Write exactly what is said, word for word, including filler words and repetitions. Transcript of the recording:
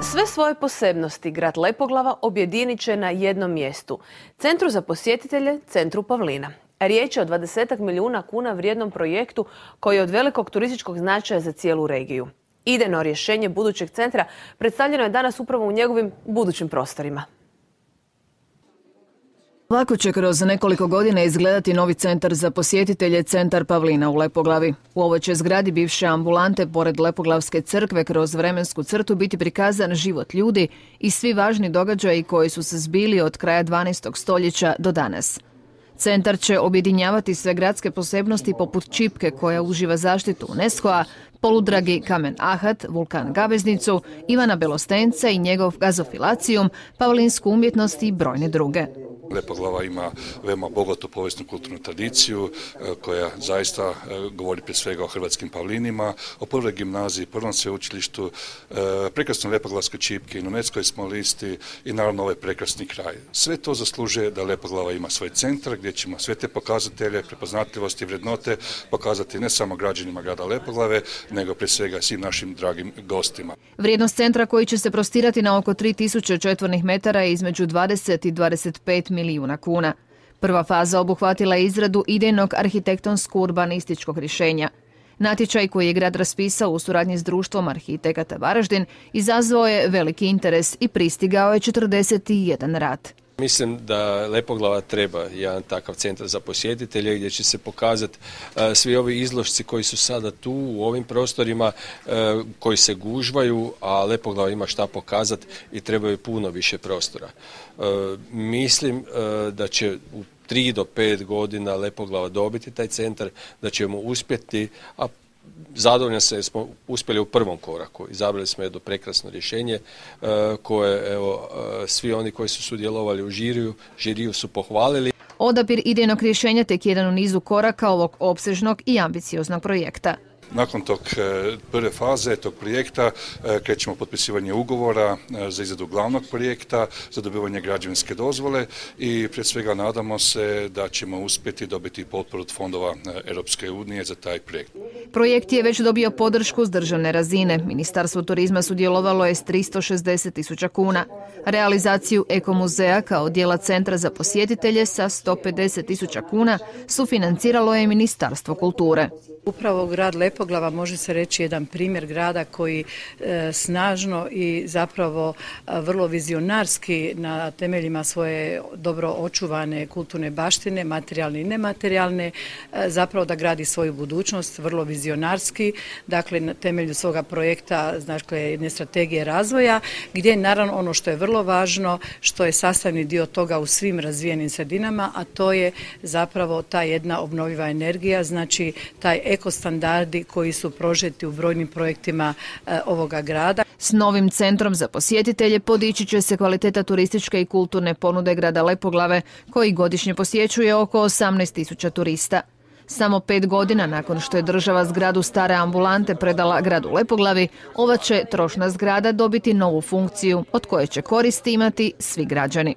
Sve svoje posebnosti grad Lepoglava objedinit će na jednom mjestu. Centru za posjetitelje, Centru Pavlina. Riječ je o dvadesetak milijuna kuna vrijednom projektu koji je od velikog turističkog značaja za cijelu regiju. Idejno rješenje budućeg centra predstavljeno je danas upravo u njegovim budućim prostorima. Lako će kroz nekoliko godina izgledati novi centar za posjetitelje, Centar Pavlina u Lepoglavi. U ovoj će zgradi bivše ambulante pored Lepoglavske crkve kroz vremensku crtu biti prikazan život ljudi i svi važni događaji koji su se zbili od kraja dvanaestog stoljeća do danas. Centar će objedinjavati sve gradske posebnosti poput Čipke koja uživa zaštitu UNESCO-a, poludragi kamen Ahat, vulkan Gaveznicu, Ivana Belostenca i njegov gazofilacijum, pavlinsku umjetnost i brojne druge. Lepoglava ima veoma bogatu povijesnu kulturnu tradiciju koja zaista govori prije svega o hrvatskim pavlinima, o prvoj gimnaziji, prvom sveučilištu, prekrasnoj Lepoglavskoj čipki, na UNESCO-oj smo listi i naravno ovaj prekrasni kraj. Sve to zaslužuje da Lepoglava ima svoj centar gdje ćemo sve te pokazatelje, prepoznatljivosti i vrednote pokazati ne samo građanima grada Lepoglave, nego prije svega svim našim dragim gostima. Vrijednost centra koji će se prostirati na oko tri tisuće četvornih metara je između dvadeset i dvadeset pet milijuna kuna. Prva faza obuhvatila je izradu idejnog arhitektonsko-urbanističkog rješenja. Natječaj koji je grad raspisao u suradnji s društvom arhitekata Varaždin izazvao je veliki interes i pristigao je četrdeset jedan rad. Mislim da Lepoglava treba jedan takav centar za posjetitelje gdje će se pokazati uh, svi ovi izložci koji su sada tu u ovim prostorima uh, koji se gužvaju, a Lepoglava ima šta pokazati i trebaju puno više prostora. Uh, mislim uh, da će u tri do pet godina Lepoglava dobiti taj centar, da ćemo uspjeti, a zadovoljan se jer smo uspjeli u prvom koraku. Izabrali smo jedno prekrasno rješenje uh, koje evo, uh, svi oni koji su sudjelovali u žiriju, žiriju su pohvalili. Odabir idejnog rješenja tek jedan u nizu koraka ovog opsežnog i ambicioznog projekta. Nakon tog prve faze tog projekta krećemo potpisivanje ugovora za izradu glavnog projekta, za dobivanje građevinske dozvole i prije svega nadamo se da ćemo uspjeti dobiti potporu od fondova Europske unije za taj projekt. Projekt je već dobio podršku s državne razine. Ministarstvo turizma sudjelovalo je s tristo šezdeset tisuća kuna. Realizaciju ekomuzeja kao dijela centra za posjetitelje sa sto pedeset tisuća kuna sufinanciralo je Ministarstvo kulture. Upravo grad Lepoglava može se reći jedan primjer grada koji e, snažno i zapravo a, vrlo vizionarski na temeljima svoje dobro očuvane kulturne baštine, materijalne i nematerijalne, e, zapravo da gradi svoju budućnost, vrlo vizionarski, dakle na temelju svoga projekta, dakle jedne strategije razvoja, gdje naravno ono što je vrlo važno, što je sastavni dio toga u svim razvijenim sredinama, a to je zapravo ta jedna obnovljiva energija, znači taj ekostandardi koji su prožeti u brojnim projektima e, ovoga grada. S novim centrom za posjetitelje podići će se kvaliteta turističke i kulturne ponude grada Lepoglave, koji godišnje posjećuje oko osamnaest tisuća turista. Samo pet godina nakon što je država zgradu stare ambulante predala gradu Lepoglavi, ova će trošna zgrada dobiti novu funkciju od koje će koristi imati svi građani.